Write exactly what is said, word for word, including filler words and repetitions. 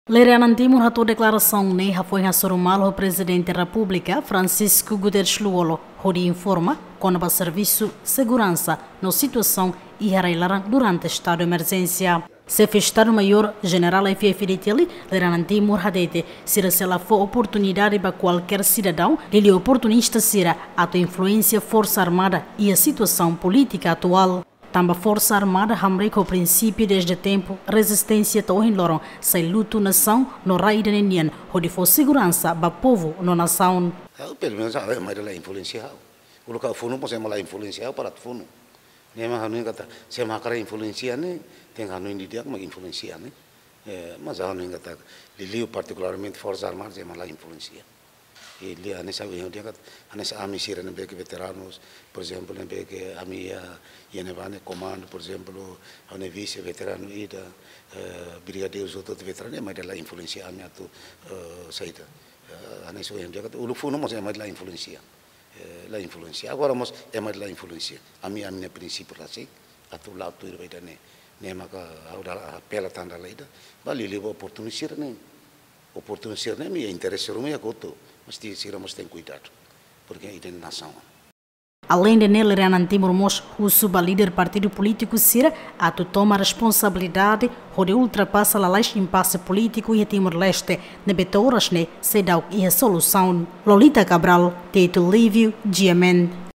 Lere-anan Timur hato'o deklarasaun ne'e hafoin hasoru malu ho Prezidente Repúblika, Francisco Guterres Lú-Olo, hodi informa kona-ba servisu seguransa no situasaun iha rai-laran durante estadu emerjénsia. Xefe Estadu-Maiór Jenerál F F Dili, lere-anan Timur hatete, sira sei la fó oportunidade ba kualkér sidadaun, liuliu oportunista sira, atu influensia Forsa Armada iha situasaun polítika atuál. Tanba Forsa Armada hamriik ho prinsípiu dezde tempu rezisténsia to'o ohin loron, sai lutu nasaun no rai ida-ne'e nian, hodi fó seguransa ba povu no nasaun. Ha'u, pelumenus, ha'u ema ida la influensia ha'u. Uluk ha'u funu mós ema la influensia ha'u para atu funu. Ne'e mak hanoin katak, se ema hakarak influensia ne'e, tenke hanoin didi'ak mak influensia ne'e. Eh, mas ha'u hanoin katak, liuliu partikularmente Forsa Armada, ema la influensia. I lia ne'e sabe yang dia kat, hanesan ami sira ne'ebé ke veteranus, por ezemplu, ne'ebé ke ami iha, iha ne'ebá ne'e komandu, por ezemplu, ami vise veteranu ida, eh, brigadeiru hotu-hotu veteranu, ema ida la influensia ami atu, eh, saida. Eh, hanesan yang dia kat, uluk funu mós ema ida la influensia. Eh, la influensia. Agora mós ema ida la influensia. Ami, ami-nia prinsípiu rasik, atu la'o tuir ba ida-ne'e. Ne'e maka ha'u dala apela tan dala ida, ba liuliu ba oportunista sira-ne'e. Oportunista sira-ne'e, ami interese ruma iha kotuk, mas ti sira mós tenke kuidadu, porke ida-ne'e nasaun. Aleinde ne'e, lere-anan Timur mós husu ba líder partidu polítiku sira atu toma responsabilidade hodi ultrapasa lalais impase polítiku iha Timor-Leste, ne'ebé to'o oras ne'e seidauk iha solusaun. Lolita Cabral, Tito Lívio, G M N.